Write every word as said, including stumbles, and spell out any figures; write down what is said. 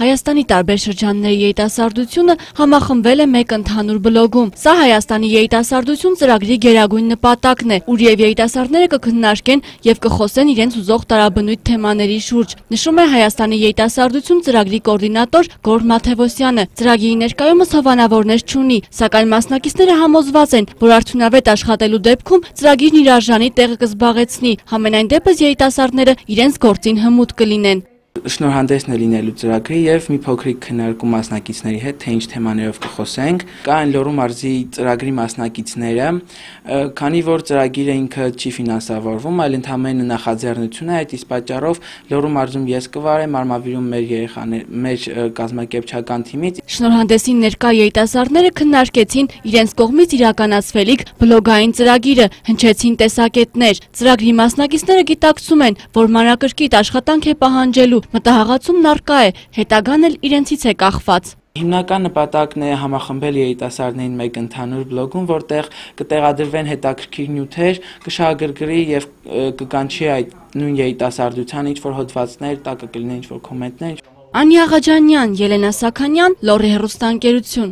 Հայաստանի տարբեր շրջանների երիտասարդությունը համախմբվել է մեկ ընդհանուր բլոգում։ Սա Հայաստանի երիտասարդություն ծրագրի գերագույն նպատակն է, ուր եւ երիտասարդները կքննարկեն եւ կխոսեն իրենց ուզող տարաբնույթ թեմաների շուրջ, նշում է Հայաստանի երիտասարդություն ծրագրի կոորդինատոր Գոռ Մաթևոսյանը։ Ծրագրի ներկայումս հովանավորներ չունի, սակայն մասնակիցները համոզված են, որ արդյունավետ աշխատելու դեպքում ծրագիրն իր արժանի տեղը կզբաղեցնի, համենայն դեպս երիտասարդները իրենց գործին հմուտ կլինեն։ Շնորհանդեսն է լինելու ծրագրի եւ մի փոքրիկ քննարկում մասնակիցների հետ, թե ինչ թեմաներով կխոսենք։ Կա այն Լոռու մարզի ծրագրի մասնակիցները, քանի որ ծրագիրը ինքը չի ֆինանսավորվում, այլ ընդհանրապես նախաձեռնություն է, այդ իսկ պատճառով Լոռու մարզում ես կվարեմ, Արմավիրում մեր երեխաներ, մեր կազմակերպչական թիմից։ Շնորհանդեսին ներկա երիտասարդները քննարկեցին իրենց կողմից իրականացվելիք բլոգային ծրագիրը, հնչեցին տեսակետներ։ Ծրագրի մասնակիցները գիտակցում են, որ մանրակրկիտ աշխատանք է պահանջելու, մտահղացումն առկա է, հետագան էլ իրենցից է կախված։ Հիմնական նպատակն է համախմբել երիտասարդներին մեկ ընդհանուր բլոգում, որտեղ կտեղադրվեն հետաքրքիր նյութեր, կշահագրգռի եւ կկանչի այդ նույն երիտասարդության ինչ-որ հոդվածներ, տակը կլինեն ինչ-որ կոմենտներ։ Անի Աղաջանյան, Ելենա Սաքանյան, Լոռի հեռուստաընկերություն։